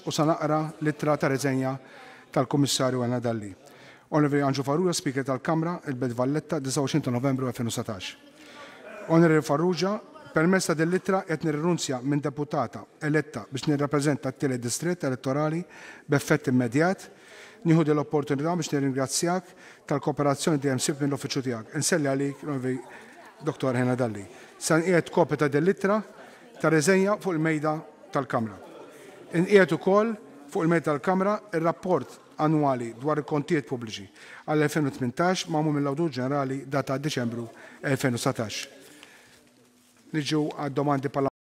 2019 u sa naqra l-ittra ta' riżenja tal-Kummissarju Helena Dalli. Onorevoli Anġlu Farrugia, Speaker tal-Kamra, il-Belt Valletta, 29 ta' Novembru 2019. Onorevoli Farrugia, permezz ta' din l-ittra qed nirrinunzja minn deputata eletta biex nirrappreżenta t-tielet distrett elettorali b'effett immedjat. Nieħu din l-opportunità biex nirringrazzjak tal-kooperazzjoni dejjem sibt mill-uffiċċju tiegħek. Inselli għalik, Onorevoli Dottor Helena Dalli. Sa nqiegħed kopja ta' din l-ittra ta' riżenja fuq il-mejda tal-Kamra. Inqiegħed ukoll fuq il-mejda tal-Kamra r-rapport annwali dwar il-kontijiet pubbliċi għall-2018 magħmul mill-Awditur Ġenerali datat Diċembru 2019. Niġu għad-domandi parlamentari.